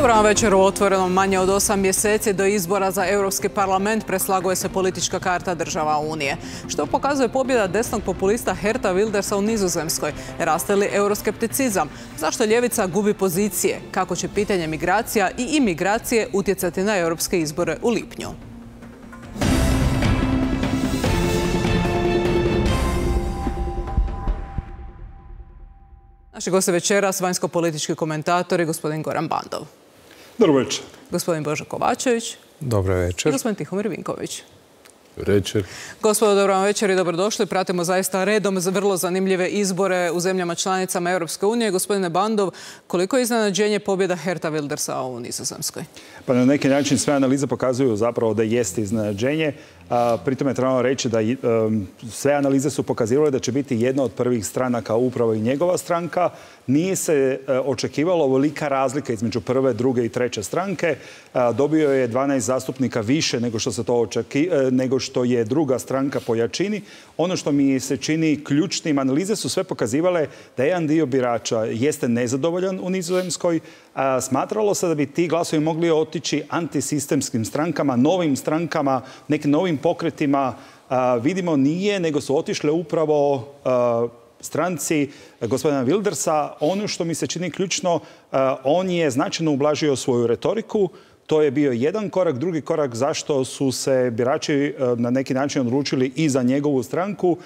Dobro vam večer u Otvorenom. Manje od 8 mjeseci do izbora za Europski parlament preslaguje se politička karta država Unije. Što pokazuje pobjeda desnog populista Geerta Wildersa u Nizozemskoj? Raste li euroskepticizam? Zašto ljevica gubi pozicije? Kako će pitanje migracija i imigracije utjecati na europske izbore u lipnju? Naši gosti večeras, vanjsko-politički komentatori, gospodin Goran Bandov. Dobro večer. Gospodin Božo Kovačević. Dobro večer. I gospodin Tihomir Vinković. Dobro večer. Gospodo, dobro vam večer i dobrodošli. Pratimo zaista redom vrlo zanimljive izbore u zemljama članicama Europske unije. Gospodine Bandov, koliko je iznenađenje pobjeda Geerta Wildersa u Nizozemskoj? Pa na neki način sve analize pokazuju zapravo da jeste iznenađenje. Pritom je trebalo reći da sve analize su pokazivale da će biti jedna od prvih stranaka upravo i njegova stranka. Nije se očekivalo ovolika razlika između prve, druge i treće stranke. Dobio je 12 zastupnika više nego što je druga stranka po jačini. Ono što mi se čini ključnim, analize su sve pokazivale da jedan dio birača jeste nezadovoljan u Nizozemskoj. Smatralo se da bi ti glasovi mogli otići antisistemskim strankama, novim strankama, nekim novim pokretima. Vidimo nije, nego su otišle upravo stranci gospodina Wildersa. Ono što mi se čini ključno, on je značajno ublažio svoju retoriku. To je bio jedan korak. Drugi korak zašto su se birači na neki način odlučili i za njegovu stranku,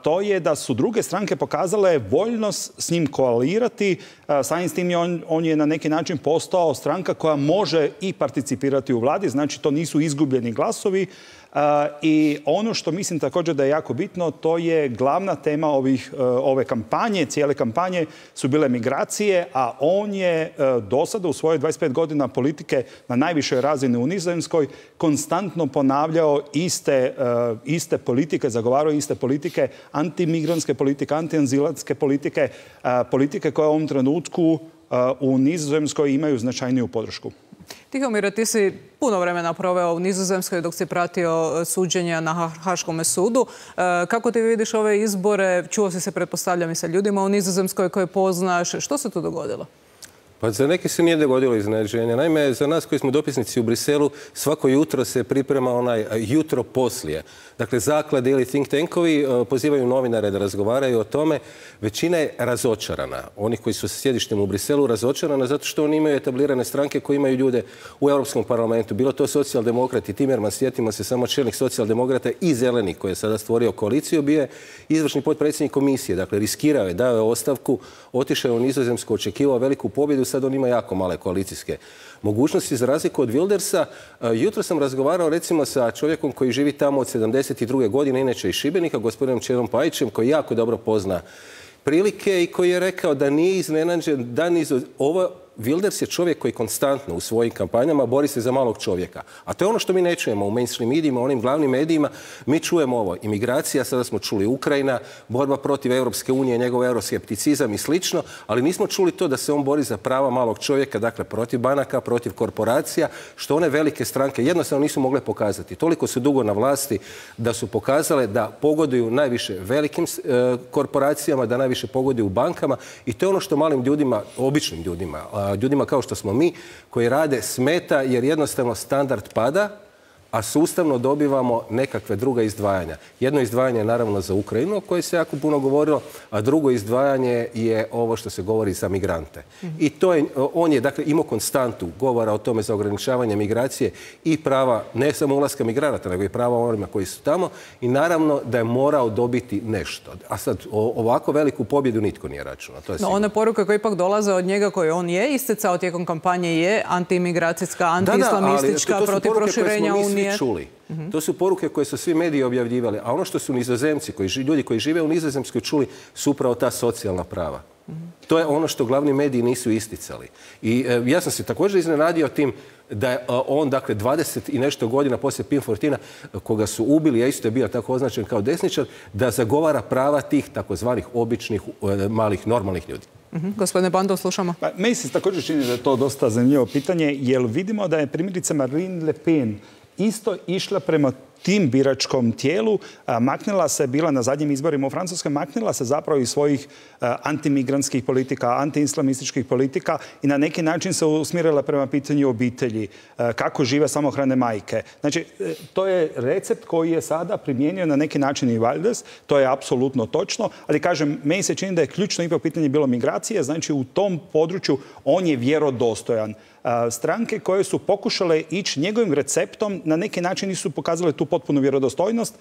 to je da su druge stranke pokazale voljnost s njim koalirati. Samim s tim on je na neki način postao stranka koja može i participirati u vladi. Znači, to nisu izgubljeni glasovi. I ono što mislim također da je jako bitno, to je glavna tema ove kampanje, cijele kampanje su bile migracije, a on je do sada u svojoj 25 godina politike na najvišoj razini u Nizozemskoj konstantno ponavljao iste politike, zagovarao iste politike, antimigrantske politike, antiazilantske politike, politike koje u ovom trenutku u Nizozemskoj imaju značajniju podršku. Tihomire, ti si puno vremena proveo u Nizozemskoj dok si pratio suđenja na Haškom sudu. Kako ti vidiš ove izbore? Čuo si se, pretpostavljam, i sa ljudima u Nizozemskoj koje poznaš. Što se tu dogodilo? Pa za neke se nije dogodilo iznenađenje. Naime, za nas koji smo dopisnici u Briselu, svako jutro se priprema onaj jutro poslije. Dakle, zaklade ili think tankovi pozivaju novinare da razgovaraju o tome. Većina je razočarana. Oni koji su sa sjedištem u Briselu razočarana zato što oni imaju etablirane stranke koji imaju ljude u Europskom parlamentu. Bilo to socijaldemokrati, Timmermans, sjetimo se samo čelnik socijaldemokrata i Zeleni koji je sada stvorio koaliciju, bio je izvršni potpredsjednik komisije. Dakle, riskirao je, dao je ostavku, otišao u Nizozemsku, očekivao veliku pobjedu, sad on ima jako male koalicijske mogućnosti. Za razliku od Wildersa, jutro sam razgovarao recimo sa čovjekom koji živi tamo od 72. godine, inače iz Šibenika, gospodinom Čedom Pajićem, koji jako dobro pozna prilike i koji je rekao da nije iznenađen da ovo. Wilders je čovjek koji konstantno u svojim kampanjama bori se za malog čovjeka. A to je ono što mi ne čujemo u mainstream medijima, onim glavnim medijima. Mi čujemo ovo. Imigracija, sada smo čuli Ukrajina, borba protiv Europske unije, njegov euroskepticizam i slično, ali nismo čuli to da se on bori za prava malog čovjeka, dakle protiv banaka, protiv korporacija, što one velike stranke jednostavno nisu mogle pokazati. Toliko su dugo na vlasti da su pokazale da pogoduju najviše velikim korporacijama, da najviše pogoduju bankama i to je ono što malim ljudima, običnim ljudima kao što smo mi, koji rade smeta jer jednostavno standard pada, a sustavno dobivamo nekakve druga izdvajanja. Jedno izdvajanje je naravno za Ukrajinu, o kojoj se jako puno govorilo, a drugo izdvajanje je ovo što se govori za migrante. I to je, on je dakle imao konstantu govora o tome za ograničavanje migracije i prava ne samo ulaska migranata, nego i prava onima koji su tamo i naravno da je morao dobiti nešto. A sad ovako veliku pobjedu nitko nije računao. No, one poruke koje ipak dolaze od njega koje on je isticao tijekom kampanje je antiimigracijska, antiislamistička, protiv proširenja Unije. Čuli. To su poruke koje su svi mediji objavljivali. A ono što su Nizozemci, ljudi koji žive u Nizozemskoj čuli, su upravo ta socijalna prava. To je ono što glavni mediji nisu isticali. I ja sam se također iznenadio tim da je on, dakle, 20 i nešto godina poslije Pim Fortina, koga su ubili, a isto je bio tako označen kao desničar, da zagovara prava tih takozvanih običnih, malih, normalnih ljudi. Gospodine Bandov, slušamo. Meni se također čini da je to dosta zanimljivo pitanje, jer vidimo da je primjerice Marine Le Pen isto išla prema tim biračkom tijelu maknila se, bila na zadnjim izborima u Francuskoj, maknila se zapravo iz svojih antimigrantskih politika, antiislamističkih politika i na neki način se usmjerila prema pitanju obitelji, kako žive samohrane majke. Znači, to je recept koji je sada primijenio na neki način i Wilders, to je apsolutno točno, ali kažem, meni se čini da je ključno ipak pitanje bilo migracije, znači u tom području on je vjerodostojan. Stranke koje su pokušale ići njegovim receptom na neki način nisu pokazale tu potpunu vjerodostojnost,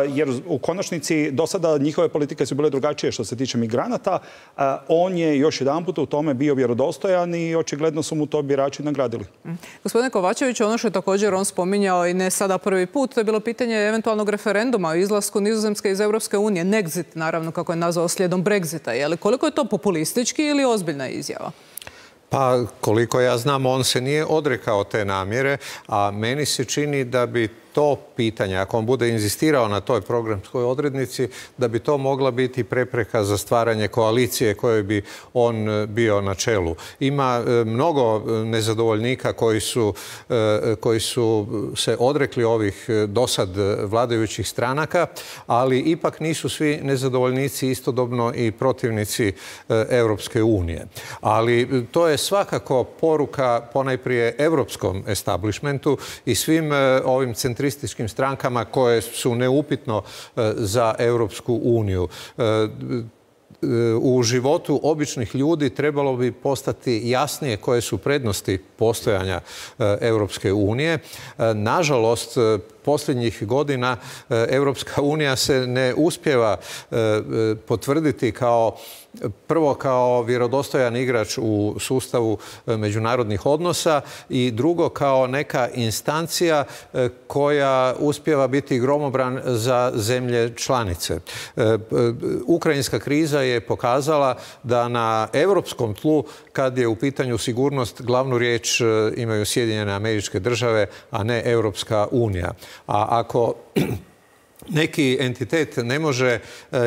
jer u konačnici do sada njihove politike su bile drugačije što se tiče migranata. On je još jedanput u tome bio vjerodostojan i očigledno su mu to birači nagradili. Gospodine Kovačević, ono što je također on spominjao i ne sada prvi put, to je bilo pitanje eventualnog referenduma o izlasku Nizozemske iz Europske unije. Nexit, naravno, kako je nazvao slijedom Brexita. Je li koliko je to populistički ili ozbiljna izjava? Pa koliko ja znam, on se nije odrekao te namjere, a meni se čini da bi to pitanje, ako on bude inzistirao na toj programskoj odrednici, da bi to mogla biti prepreka za stvaranje koalicije kojoj bi on bio na čelu. Ima mnogo nezadovoljnika koji su se odrekli ovih dosad vladajućih stranaka, ali ipak nisu svi nezadovoljnici istodobno i protivnici Europske unije. Ali to je svakako poruka ponajprije europskom establishmentu i svim ovim centrističkim strankama koje su neupitno za Europsku uniju. U životu običnih ljudi trebalo bi postati jasnije koje su prednosti postojanja Europske unije. Nažalost, posljednjih godina Europska unija se ne uspijeva potvrditi prvo kao vjerodostojan igrač u sustavu međunarodnih odnosa i drugo kao neka instancija koja uspijeva biti gromobran za zemlje članice. Ukrajinska kriza je pokazala da na europskom tlu, kad je u pitanju sigurnost, glavnu riječ imaju Sjedinjene Američke Države, a ne Europska unija. A ako neki entitet ne može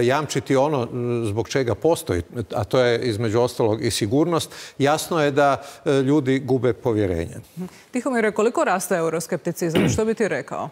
jamčiti ono zbog čega postoji, a to je između ostalog i sigurnost, jasno je da ljudi gube povjerenje. Tihomire, koliko raste euroskepticizam? Što bi ti rekao?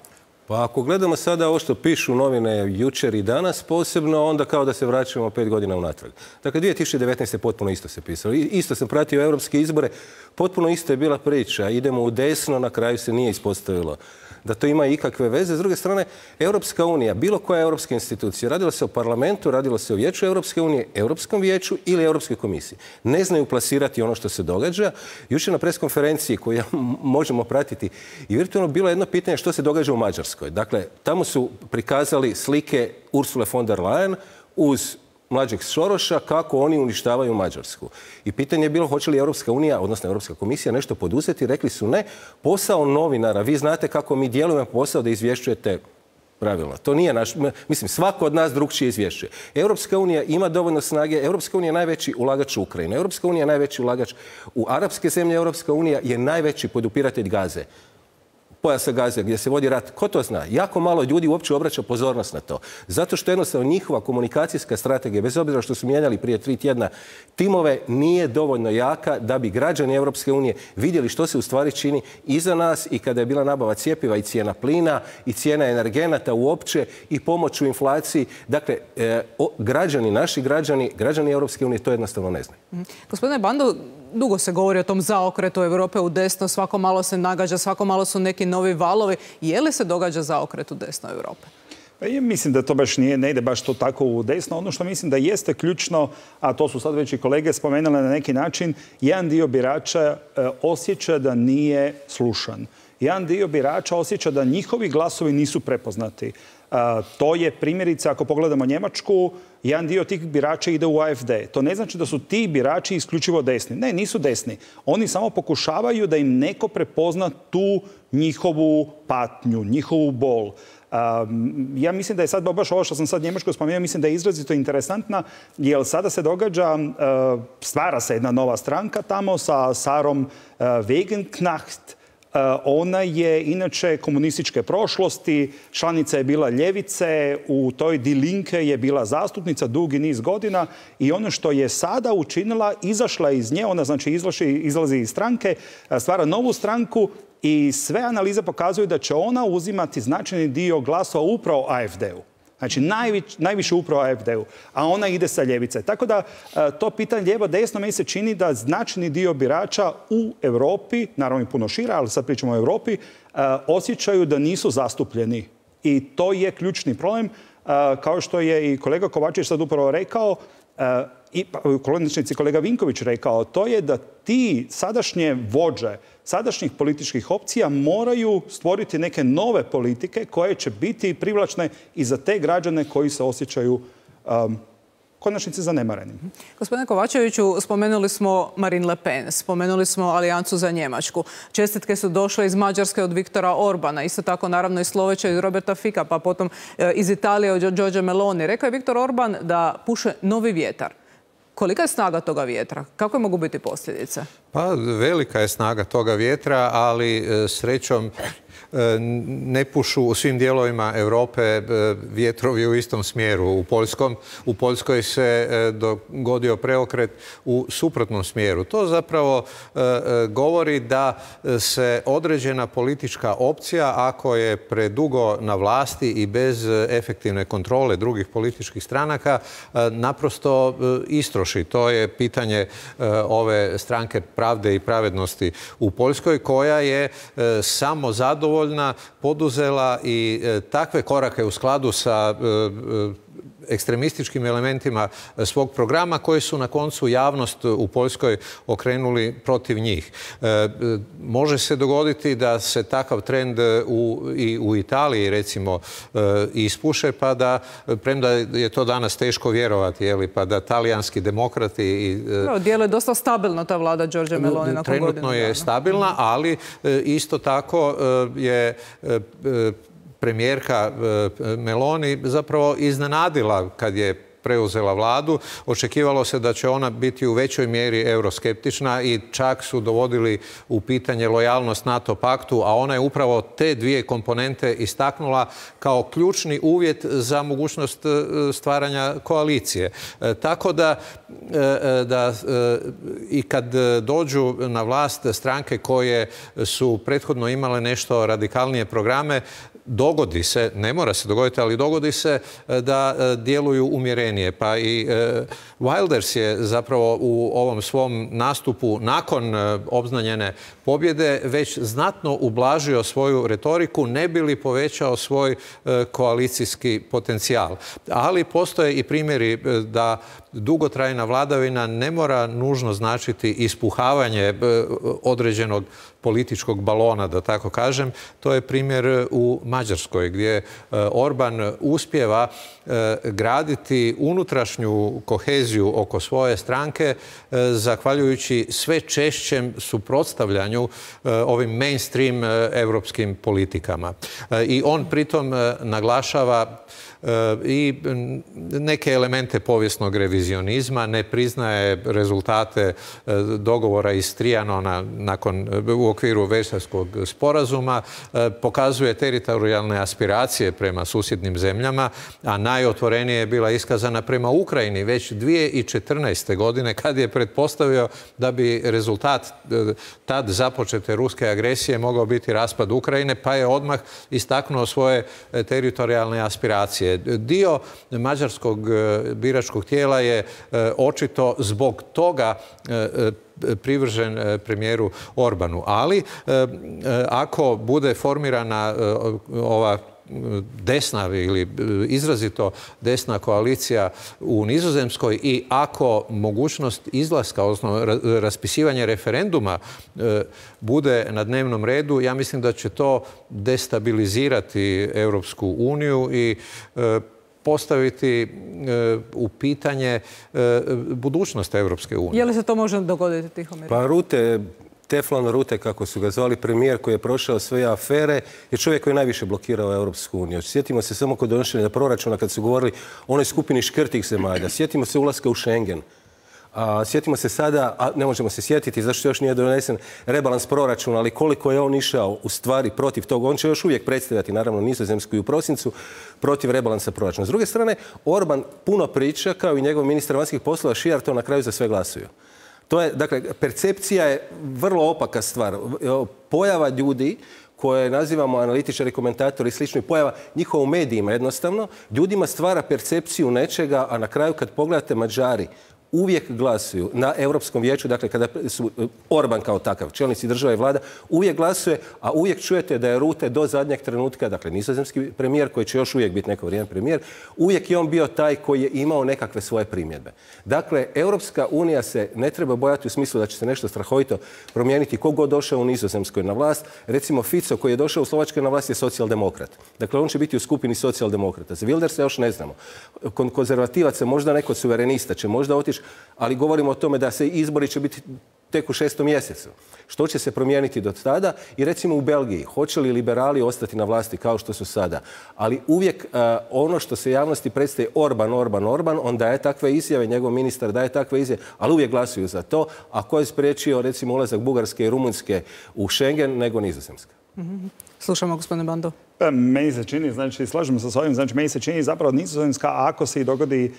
Pa ako gledamo sada ovo što pišu novine jučer i danas posebno, onda kao da se vraćamo 5 godina unatrag. Dakle, 2019. potpuno isto se pisalo. Isto sam pratio europske izbore, potpuno isto je bila priča. Idemo u desno, na kraju se nije ispostavilo da to ima ikakve veze. S druge strane, Europska unija, bilo koja europska institucija, radilo se o parlamentu, radilo se o Vijeću Europske unije, Europskom vijeću ili Europskoj komisiji. Ne znaju plasirati ono što se događa. Jučer na preskonferenciji koju možemo pratiti i virtualno bilo jedno pitanje što se događa u Mađarskoj. Dakle, tamo su prikazali slike Ursule von der Leyen uz mlađeg Soroša kako oni uništavaju Mađarsku. I pitanje je bilo hoće li Europska unija, odnosno Europska komisija, nešto poduzeti. Rekli su ne. Posao novinara, vi znate kako mi djelujemo posao da izvješćujete pravilno. To nije naš, mislim, svako od nas drukčije izvješćuje. Europska unija ima dovoljno snage, Europska unija je najveći ulagač u Ukrajinu, Europska unija je najveći ulagač u arapske zemlje, Europska unija je najveći podupiratelj Gaze. Pojasa Gaze, gdje se vodi rat. Ko to zna? Jako malo ljudi uopće obraća pozornost na to. Zato što jednostavno njihova komunikacijska strategija, bez obzira što su mijenjali prije 3 tjedna timove, nije dovoljno jaka da bi građani Europske unije vidjeli što se u stvari čini iza nas i kada je bila nabava cjepiva i cijena plina i cijena energenata uopće i pomoć u inflaciji. Dakle, građani, naši građani Europske unije to jednostavno ne znaju. Gospodine Bando, dugo se govori o tom zaokretu Europe u desno, svako malo se nagađa, svako malo su neki novi valovi. Je li se događa zaokret u desno Europe? Mislim da to baš ne ide baš to tako u desno. Ono što mislim da jeste ključno, a to su sad već i kolege spomenuli na neki način, jedan dio birača osjeća da nije slušan. Jedan dio birača osjeća da njihovi glasovi nisu prepoznati. To je primjerice, ako pogledamo Njemačku, jedan dio tih birača ide u AfD. To ne znači da su ti birači isključivo desni. Ne, nisu desni. Oni samo pokušavaju da im neko prepozna tu njihovu patnju, njihovu bol. Ja mislim da je sad baš ovo što sam sad Njemačku spomenuo, mislim da je izrazito interesantna, jer sada se događa, stvara se jedna nova stranka tamo sa Sarom Wagenknecht. Ona je inače komunističke prošlosti, članica je bila ljevice, u toj Die Linke je bila zastupnica dugi niz godina i ono što je sada učinila, izašla iz nje, ona znači izlazi iz stranke, stvara novu stranku i sve analize pokazuju da će ona uzimati značajni dio glasova upravo AfD-u. Znači, najviše upravo AfD-u, a ona ide sa ljevice. Tako da to pitanje lijevo-desno meni se čini da značajni dio birača u Europi, naravno i puno šira, ali sad pričamo o Europi, osjećaju da nisu zastupljeni. I to je ključni problem. Kao što je i kolega Kovačević sad upravo rekao, i kolega Vinković rekao, to je da ti sadašnje vođe, sadašnjih političkih opcija moraju stvoriti neke nove politike koje će biti privlačne i za te građane koji se osjećaju konačnici zanemareni. Gospodine Kovačeviću, spomenuli smo Marine Le Pen, spomenuli smo Alijancu za Njemačku. Čestitke su došle iz Mađarske od Viktora Orbana, isto tako naravno iz Sloveća iz Roberta Fica, pa potom iz Italije od Giorgia Meloni. Rekao je Viktor Orban da puše novi vjetar. Kolika je snaga toga vjetra? Kakve mogu biti posljedice? Pa velika je snaga toga vjetra, ali srećom ne pušu u svim dijelovima Europe vjetrovi u istom smjeru. U Poljskoj se dogodio preokret u suprotnom smjeru. To zapravo govori da se određena politička opcija, ako je predugo na vlasti i bez efektivne kontrole drugih političkih stranaka, naprosto istroši. To je pitanje ove stranke Pravde i pravednosti u Poljskoj, koja je samo zadovoljna, poduzela i takve korake u skladu sa ekstremističkim elementima svog programa koji su na koncu javnost u Poljskoj okrenuli protiv njih. Može se dogoditi da se takav trend i u Italiji recimo ispuše, pa da, premda je to danas teško vjerovati, pa da talijanski demokrati... Djeluje dosta stabilno ta vlada Giorgia Meloni nakon godinu. Trenutno je stabilna, ali isto tako je premijerka Meloni zapravo iznenadila kad je preuzela vladu. Očekivalo se da će ona biti u većoj mjeri euroskeptična i čak su dovodili u pitanje lojalnost NATO paktu, a ona je upravo te dvije komponente istaknula kao ključni uvjet za mogućnost stvaranja koalicije. Tako da i kad dođu na vlast stranke koje su prethodno imale nešto radikalnije programe, dogodi se, ne mora se dogoditi, ali dogodi se da djeluju umjerenije. Pa i Wilders je zapravo u ovom svom nastupu nakon obznanjene pobjede već znatno ublažio svoju retoriku, ne bi li povećao svoj koalicijski potencijal. Ali postoje i primjeri da dugotrajna vladavina ne mora nužno značiti ispuhavanje određenog političkog balona, da tako kažem. To je primjer u Mađarskoj, gdje Orban uspijeva graditi unutrašnju koheziju oko svoje stranke, zahvaljujući sve češćem suprotstavljanju ovim mainstream europskim politikama. I on pritom naglašava i neke elemente povijesnog revizionizma, ne priznaje rezultate dogovora iz Trianona u okviru Versajskog sporazuma, pokazuje teritorijalne aspiracije prema susjednim zemljama, a najotvorenije je bila iskazana prema Ukrajini već 2014. godine, kad je pretpostavio da bi rezultat tad započete ruske agresije mogao biti raspad Ukrajine, pa je odmah istaknuo svoje teritorijalne aspiracije. Dio mađarskog biračkog tijela je očito zbog toga privržen premijeru Orbanu. Ali ako bude formirana ova desna ili izrazito desna koalicija u Nizozemskoj i ako mogućnost izlaska, odnosno raspisivanje referenduma bude na dnevnom redu, ja mislim da će to destabilizirati Europsku uniju i postaviti u pitanje budućnost Europske unije. Je li se to može dogoditi, Tihomir? Pa Teflon Rute, kako su ga zvali, premijer koji je prošao sve afere, je čovjek koji je najviše blokirao Europsku uniju. Sjetimo se samo kod donošenja proračuna kad su govorili o onoj skupini škrtih zemalja. Sjetimo se ulaska u Schengen. Sjetimo se sada, a ne možemo se sjetiti zašto još nije donesen rebalans proračuna, ali koliko je on išao u stvari protiv toga. On će još uvijek predstavljati, naravno, Nizozemsku i u prosincu protiv rebalansa proračuna. S druge strane, Orban puno priča, kao i njegov ministar vanjskih poslova Šijar, to na kraju za sve glasuju. To je, dakle, percepcija je vrlo opaka stvar. Pojava ljudi koje nazivamo analitičari, komentatori i slični, pojava njihova u medijima jednostavno, ljudima stvara percepciju nečega, a na kraju kad pogledate, Mađari uvijek glasuju na Europskom vijeću, dakle kada su Orban kao takav, čelnici država i vlada, uvijek glasuje, a uvijek čujete da je Rutte do zadnjeg trenutka, dakle nizozemski premijer, koji će još uvijek biti neko vrijeme premijer, uvijek je on bio taj koji je imao nekakve svoje primjedbe. Dakle, Europska unija se ne treba bojati u smislu da će se nešto strahovito promijeniti ko god došao u Nizozemskoj na vlast. Recimo Fico koji je došao u Slovačkoj na vlast je socijaldemokrat. Dakle, on će biti u skupini socijaldemokrata. Za Wildersa još ne znamo. Konzervativaca, možda neko suverenista će možda otići, ali govorimo o tome da se izbori će biti tek u 6. mjesecu. Što će se promijeniti do tada? I recimo u Belgiji, hoće li liberali ostati na vlasti kao što su sada? Ali uvijek ono što se javnosti predstaje Orban, on daje takve izjave, njegov ministar daje takve izjave, ali uvijek glasuju za to. A ko je spriječio recimo ulazak Bugarske i Rumunjske u Schengen nego Nizozemska? Slušamo, gospodine Bando. Meni se čini, znači, slažem se s ovim, znači, meni se čini zapravo Nizozemska, ako se i dogodi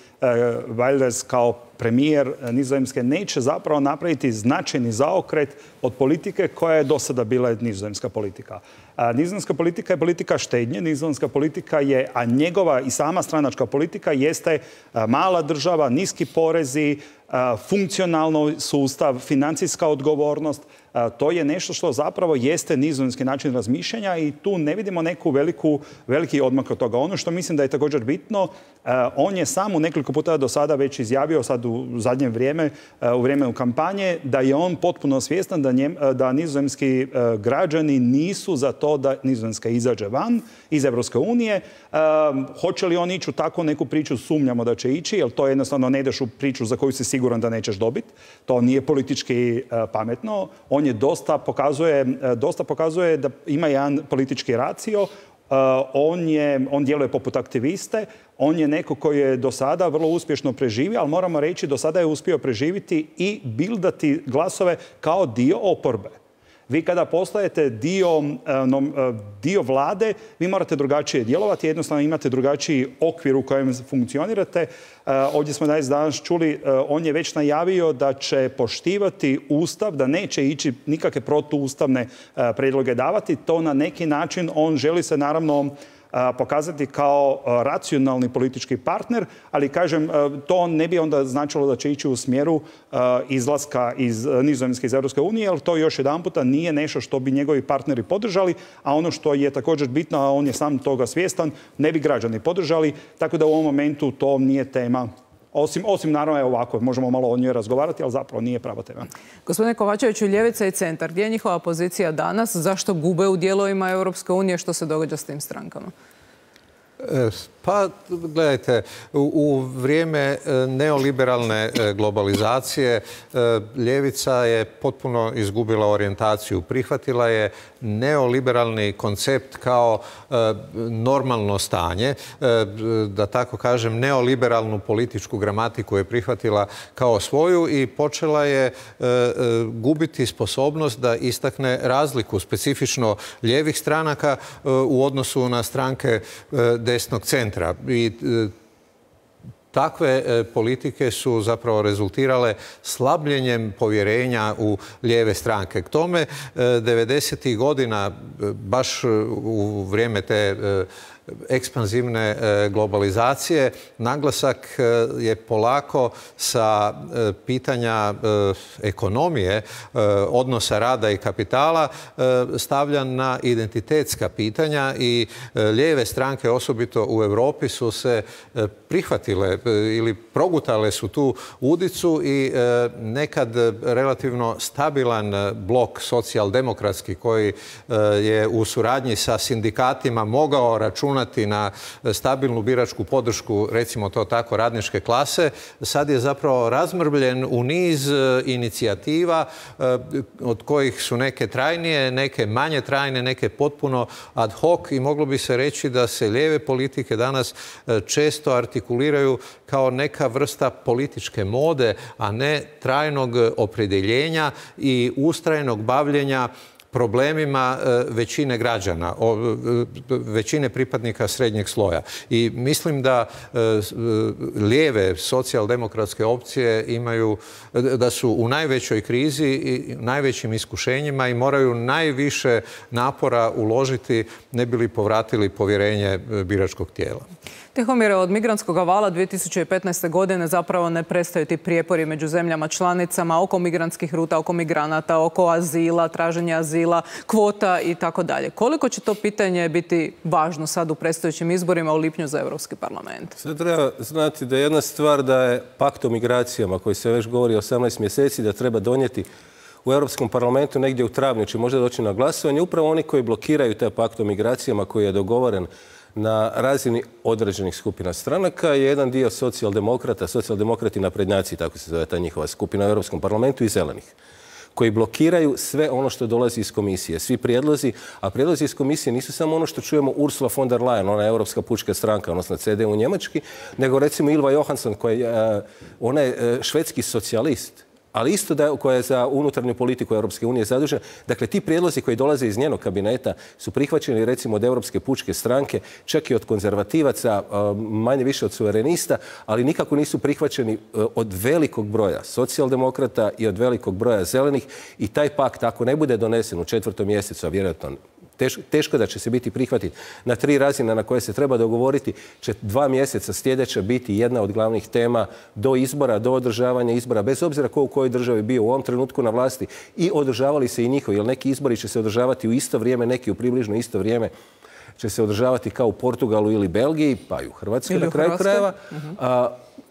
Wilders kao premijer Nizozemske, neće zapravo napraviti značajni zaokret od politike koja je do sada bila nizozemska politika. Nizozemska politika je politika štednje, nizozemska politika je, a njegova i sama stranačka politika jeste mala država, niski porezi, funkcionalno sustav, financijska odgovornost. To je nešto što zapravo jeste nizozemski način razmišljanja i tu ne vidimo neku veliki odmak od toga. Ono što mislim da je također bitno, on je sam u nekoliko puta do sada već izjavio, sad u zadnje vrijeme, u vrijeme kampanje, da je on potpuno svjestan da nizozemski građani nisu za to da Nizozemska izađe van iz Europske unije. Hoće li on ići u takvu neku priču, sumnjamo da će ići, jer to jednostavno ne ideš u priču za koju si siguran da nećeš dobiti. To nije politički pametno. On je dosta pokazuje da ima jedan politički racio. On djeluje poput aktiviste. On je neko koji je do sada vrlo uspješno preživio, ali moramo reći do sada je uspio preživiti i bildati glasove kao dio oporbe. Vi kada postajete dio vlade, vi morate drugačije djelovati, jednostavno imate drugačiji okvir u kojem funkcionirate. Ovdje smo danas čuli, on je već najavio da će poštivati Ustav, da neće ići nikakve protuustavne prijedloge davati. To na neki način on želi se naravno pokazati kao racionalni politički partner, ali kažem, to ne bi onda značilo da će ići u smjeru izlaska iz Nizozemske iz Europske unije, jer to još jedan puta nije nešto što bi njegovi partneri podržali, a ono što je također bitno, a on je sam toga svjestan, ne bi građani podržali, tako da u ovom momentu to nije tema. Osim naravno je ovako, možemo malo o njoj razgovarati, ali zapravo nije prava tema. Gospodine Kovačeviću, ljevica i centar, gdje je njihova pozicija danas? Zašto gube u dijelovima Europske unije? Što se događa s tim strankama? Pa, gledajte, u vrijeme neoliberalne globalizacije ljevica je potpuno izgubila orijentaciju. Prihvatila je neoliberalni koncept kao normalno stanje. Da tako kažem, neoliberalnu političku gramatiku je prihvatila kao svoju i počela je gubiti sposobnost da istakne razliku specifično lijevih stranaka u odnosu na stranke desnog centra. I takve politike su zapravo rezultirale slabljenjem povjerenja u lijeve stranke. K tome 90. godina, baš u vrijeme te ekspanzivne globalizacije, naglasak je polako sa pitanja ekonomije, odnosa rada i kapitala stavljan na identitetska pitanja i lijeve stranke, osobito u Europi, su se prihvatile ili progutale su tu udicu i nekad relativno stabilan blok socijaldemokratski koji je u suradnji sa sindikatima mogao računati na stabilnu biračku podršku, recimo to tako, radničke klase, sad je zapravo razmrbljen u niz inicijativa od kojih su neke trajnije, neke manje trajne, neke potpuno ad hoc i moglo bi se reći da se lijeve politike danas često artikuliraju kao neka vrsta političke mode, a ne trajnog opredjeljenja i ustrajnog bavljenja problemima većine građana, većine pripadnika srednjeg sloja. I mislim da lijeve socijaldemokratske opcije da su u najvećoj krizi i najvećim iskušenjima i moraju najviše napora uložiti ne bi li povratili povjerenje biračkog tijela. Tihomire, od migrantskog vala 2015. godine zapravo ne prestaju ti prijepori među zemljama članicama oko migrantskih ruta, oko migranata, oko azila, traženja azila, kvota i tako dalje. Koliko će to pitanje biti važno sad u predstojećim izborima u lipnju za Europski parlament? Sad treba znati da je jedna stvar da je pakt o migracijama koji se već govori 18 mjeseci da treba donijeti u Europskom parlamentu negdje u travnju, će možda doći na glasovanje. Upravo oni koji blokiraju taj pakt o migracijama koji je dogovoren na razini određenih skupina stranaka je jedan dio socijaldemokrati naprednjaci, tako se zove ta njihova skupina u Europskom parlamentu, i zelenih, koji blokiraju sve ono što dolazi iz komisije. Svi prijedlozi, a prijedlozi iz komisije nisu samo ono što čujemo Ursula von der Leyen, ona je Europska pučka stranka, odnosno CDU njemački, nego recimo Ylva Johansson, ona je švedski socijalist, ali isto koja je za unutarnju politiku Europske unije zadužena. Dakle, ti prijedlozi koji dolaze iz njenog kabineta su prihvaćeni recimo od Europske pučke stranke, čak i od konzervativaca, manje više od suverenista, ali nikako nisu prihvaćeni od velikog broja socijaldemokrata i od velikog broja zelenih. I taj pakt, ako ne bude donesen u 4. mjesecu, a vjerojatno teško da će se biti prihvatiti na 3 razine na koje se treba dogovoriti, će 2 mjeseca sljedeća biti jedna od glavnih tema do izbora, do održavanja izbora, bez obzira ko u kojoj državi bio u ovom trenutku na vlasti, i održavali se i njihovi, jer neki izbori će se održavati u isto vrijeme, neki u približno isto vrijeme će se održavati kao u Portugalu ili Belgiji, pa i u Hrvatskoj na kraju krajeva.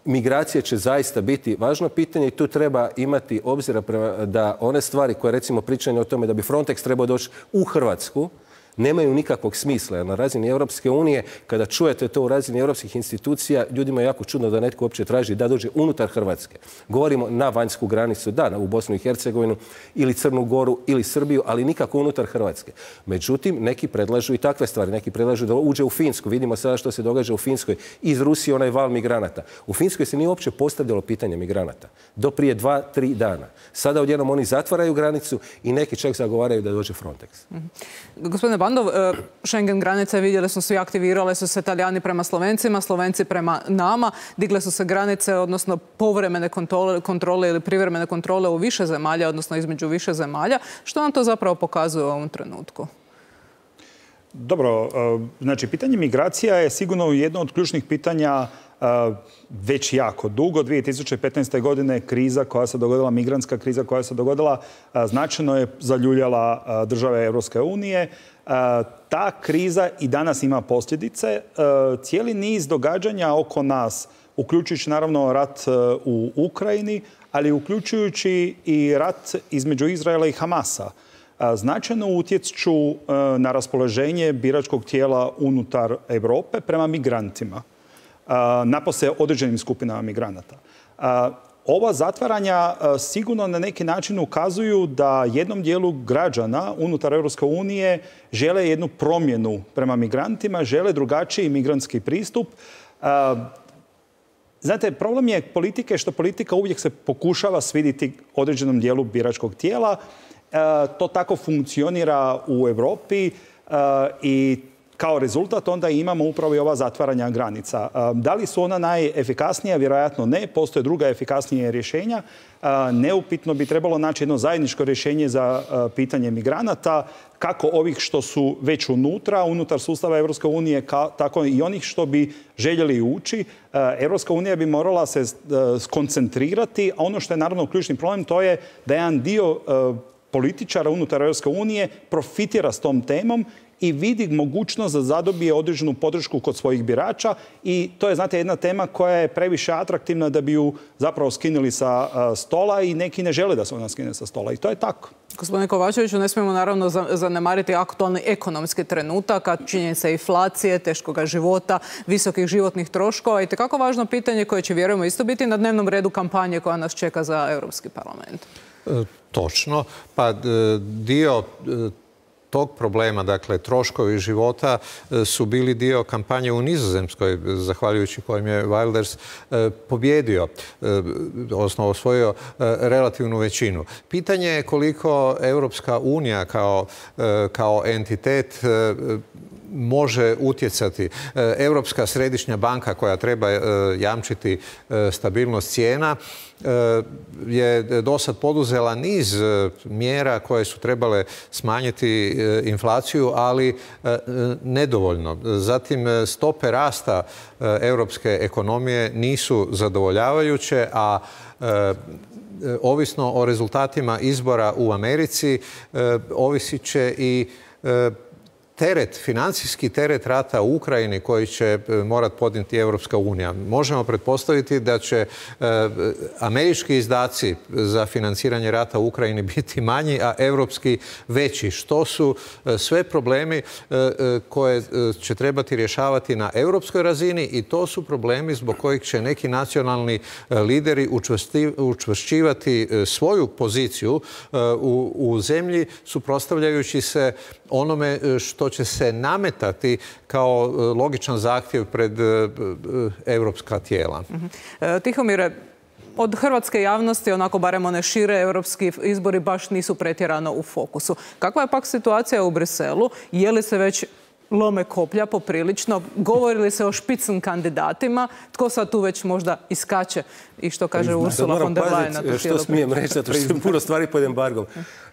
Migracije će zaista biti važno pitanje i tu treba imati obzira da one stvari koje recimo pričanje o tome da bi Frontex trebao doći u Hrvatsku nemaju nikakvog smisla. Jer na razini Europske unije, kada čujete to u razini europskih institucija, ljudima je jako čudno da netko uopće traži da dođe unutar Hrvatske. Govorimo na vanjsku granicu, da, u Bosnu i Hercegovinu ili Crnu Goru ili Srbiju, ali nikako unutar Hrvatske. Međutim, neki predlažu i takve stvari. Neki predlažu da uđe u Finsku. Vidimo sada što se događa u Finskoj. Iz Rusije onaj val migranata. U Finskoj se nije uopće postavljalo pitanje migranata. Do prije 2-3 dana. Sada odjednom oni zatvaraju granicu i neki čak zagovaraju da dođe Frontex. Gospodine Bandov, Schengen granice, vidjeli smo svi, aktivirale su se Talijani prema Slovencima, Slovenci prema nama, digle su se granice, odnosno povremene kontrole ili privremene kontrole u više zemalja, odnosno između više zemalja. Što nam to zapravo pokazuje u ovom trenutku? Dobro, znači pitanje migracija je sigurno jedno od ključnih pitanja već jako dugo. 2015. godine kriza koja se dogodila, migrantska kriza koja se dogodila, značajno je zaljuljala države Europske unije. Ta kriza i danas ima posljedice. Cijeli niz događanja oko nas, uključujući naravno rat u Ukrajini, ali uključujući i rat između Izraela i Hamasa, značajno utječu na raspoloženje biračkog tijela unutar Europe prema migrantima, napose određenim skupinama migranata. Ova zatvaranja sigurno na neki način ukazuju da jednom dijelu građana unutar Europske unije žele jednu promjenu prema migrantima, žele drugačiji migrantski pristup. Znate, problem je politike što politika uvijek se pokušava svidjeti određenom dijelu biračkog tijela. To tako funkcionira u Europi i kao rezultat onda imamo upravo i ova zatvaranja granica. Da li su ona najefikasnija? Vjerojatno ne. Postoje druga efikasnije rješenja. Neupitno bi trebalo naći jedno zajedničko rješenje za pitanje migranata, kako ovih što su već unutar sustava Europske unije, tako i onih što bi željeli ući. Europska unija bi morala se skoncentrirati, a ono što je naravno ključni problem to je da jedan dio političara unutar Europske unije profitira s tom temom i vidi mogućnost da zadobije određenu podršku kod svojih birača i to je, znate, jedna tema koja je previše atraktivna da bi ju zapravo skinuli sa stola i neki ne žele da se ona skine sa stola i to je tako. Gospodine Kovačeviću, ne smijemo naravno zanemariti aktualni ekonomski trenutak, a činjenica inflacije, teškoga života, visokih životnih troškova i tekako važno pitanje koje će, vjerujemo, isto biti na dnevnom redu kampanje koja nas čeka za Europski parlament. Točno. Pa dio tog problema, dakle troškovi života, su bili dio kampanje u Nizozemskoj, zahvaljujući kojem je Wilders pobjedio, odnosno osvojio relativnu većinu. Pitanje je koliko Europska unija kao entitet može utjecati. Europska središnja banka koja treba jamčiti stabilnost cijena je dosad poduzela niz mjera koje su trebale smanjiti inflaciju, ali nedovoljno. Zatim, stope rasta europske ekonomije nisu zadovoljavajuće, a ovisno o rezultatima izbora u Americi ovisit će i financijski teret rata u Ukrajini koji će morati podnijeti Europska unija. Možemo pretpostaviti da će američki izdaci za financiranje rata u Ukrajini biti manji, a europski veći. Što su sve problemi koje će trebati rješavati na europskoj razini i to su problemi zbog kojih će neki nacionalni lideri učvršćivati svoju poziciju u zemlji, suprotstavljajući se onome što će se nametati kao logičan zahtjev pred europska tijela. Tihomire, od hrvatske javnosti, onako barem one šire, europski izbori baš nisu pretjerano u fokusu. Kakva je pak situacija u Briselu? Je li se već lome koplja poprilično? Govori li se o špicen kandidatima? Tko sad tu već možda iskače i što kaže Ursula von der Leyen? Što smijem reći, zato što je puno stvari pod embargom.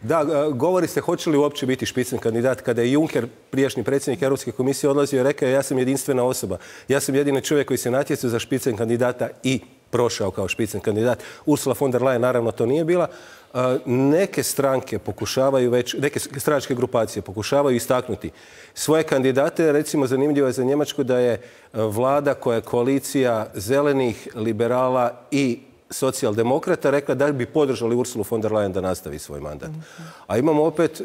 Da, govori se hoće li uopće biti špicen kandidat. Kada je Juncker, prijašnji predsjednik Europske komisije, odlazio i rekao ja sam jedinstvena osoba. Ja sam jedini čovjek koji se natjecao za špicen kandidata i prošao kao špicen kandidat. Ursula von der Leyen naravno to nije bila. Neke stranke pokušavaju već, neke stranačke grupacije pokušavaju istaknuti svoje kandidate. Recimo, zanimljivo je za Njemačku da je vlada koja je koalicija zelenih, liberala i socijaldemokrata rekla da bi podržali Ursulu von der Leyen da nastavi svoj mandat. A imamo opet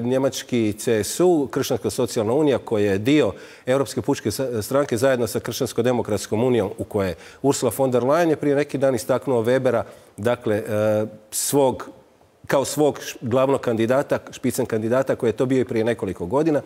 njemački CSU, Kršćanska socijalna unija, koja je dio Europske pučke stranke zajedno sa Kršćansko-demokratskom unijom, u koje je Ursula von der Leyen je prije neki dan istaknuo Webera, dakle, kao svog glavnog kandidata, špicen kandidata, koji je to bio i prije nekoliko godina.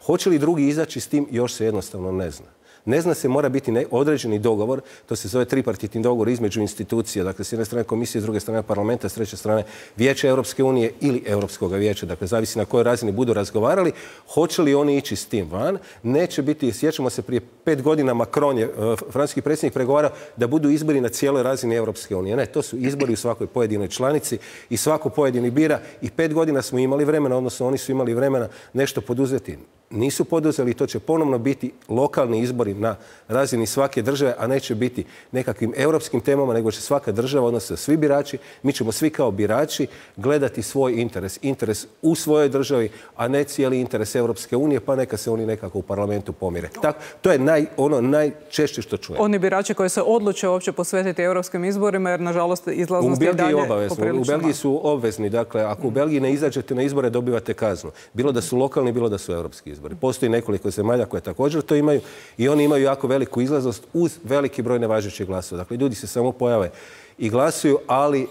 Hoće li drugi izaći s tim, još se jednostavno ne zna. Ne zna se, mora biti određeni dogovor, to se zove tripartitni dogovor između institucija, dakle s jedne strane komisije, s druge strane parlamenta, s treće strane Vijeća Europske unije ili Europskog vijeća, dakle zavisi na kojoj razini budu razgovarali. Hoće li oni ići s tim van? Neće biti, sjećamo se prije 5 godina Macron je, francuski predsjednik, pregovarao da budu izbori na cijeloj razini Europske unije. Ne, to su izbori u svakoj pojedinoj članici i svako pojedini bira i 5 godina smo imali vremena, odnosno oni su imali vremena nešto poduzeti. Nisu poduzeli, to će ponovno biti lokalni izbori na razini svake države, a neće biti nekakvim europskim temama, nego će svaka država, odnosno svi birači, mi ćemo svi kao birači gledati svoj interes u svojoj državi, a ne cijeli interes Europske unije, pa neka se oni nekako u parlamentu pomire. Tako, to je najčešće što čujemo. Oni birači koji se odluče uopće posvetiti europskim izborima, jer nažalost izlaznost je dalje poprilično. U Belgiji su obvezni, dakle, ako u Belgiji ne izađete na izbore, dobivate kaznu. Bilo da su lokalni, bilo da su europski izbori. Postoji nekoliko zemalja koje također to imaju i oni imaju jako veliku izlaznost uz veliki broj nevažećih glasova. Dakle, ljudi se samo pojave i glasuju, ali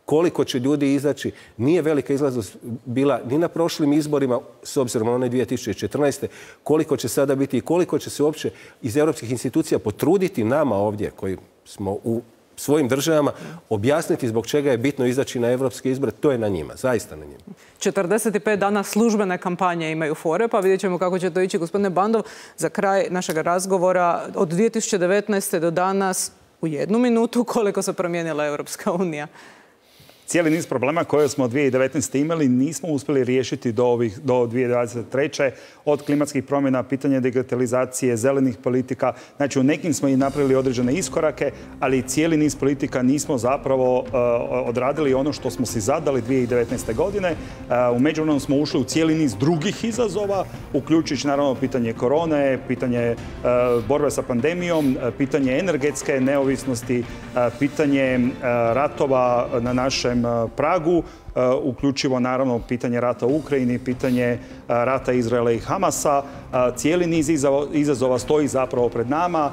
koliko će ljudi izaći, nije velika izlaznost bila ni na prošlim izborima, s obzirom na one 2014. Koliko će sada biti i koliko će se uopće iz europskih institucija potruditi nama ovdje, koji smo u svojim državama, objasniti zbog čega je bitno izaći na europske izbore, to je na njima, zaista na njima. 45 dana službene kampanje imaju fore, pa vidjet ćemo kako će to ići. Gospodine Bandov, za kraj našeg razgovora, od 2019. do danas, u 1 minutu, koliko se promijenila Europska unija? Cijeli niz problema koje smo 2019. imali nismo uspjeli riješiti do 2023. Od klimatskih promjena, pitanja digitalizacije, zelenih politika. Znači, u nekim smo i napravili određene iskorake, ali cijeli niz politika nismo zapravo odradili ono što smo si zadali 2019. godine. U međuvremenu smo ušli u cijeli niz drugih izazova, uključujući naravno pitanje korone, pitanje borbe sa pandemijom, pitanje energetske neovisnosti, pitanje ratova na našem našem pragu, uključivo naravno pitanje rata u Ukrajini, pitanje rata Izraela i Hamasa. Cijeli niz izazova stoji zapravo pred nama,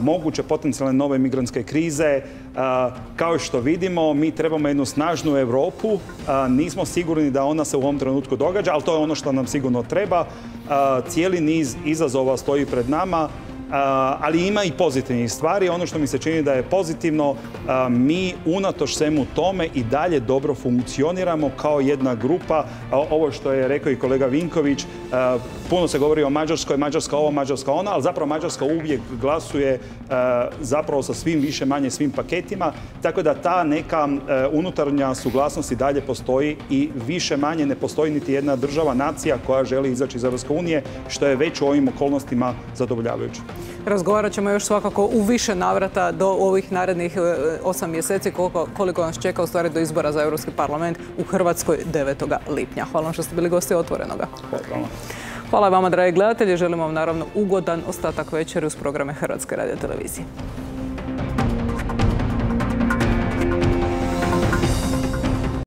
moguće potencijalne nove migrantske krize. Kao što vidimo, mi trebamo jednu snažnu Europu. Nismo sigurni da ona se u ovom trenutku događa, ali to je ono što nam sigurno treba. Cijeli niz izazova stoji pred nama, ali ima i pozitivnih stvari. Ono što mi se čini da je pozitivno, mi unatoč svemu tome i dalje dobro funkcioniramo kao jedna grupa. Ovo što je rekao i kolega Vinković, puno se govori o Mađarskoj, Mađarska ovo, Mađarska ona, ali zapravo Mađarska uvijek glasuje zapravo sa svim više manje svim paketima, tako da ta neka unutarnja suglasnost i dalje postoji i više manje ne postoji niti jedna država, nacija koja želi izaći iz Europske unije, što je već u ovim okolnostima zadovoljavajuće. Razgovarat ćemo još svakako u više navrata do ovih narednih 8 mjeseci koliko nas čeka u stvari do izbora za Europski parlament u Hrvatskoj 9. lipnja. Hvala vam što ste bili gosti Otvorenoga. Hvala vama, dragi gledatelji. Želimo vam naravno ugodan ostatak večeri uz programe Hrvatske radiotelevizije.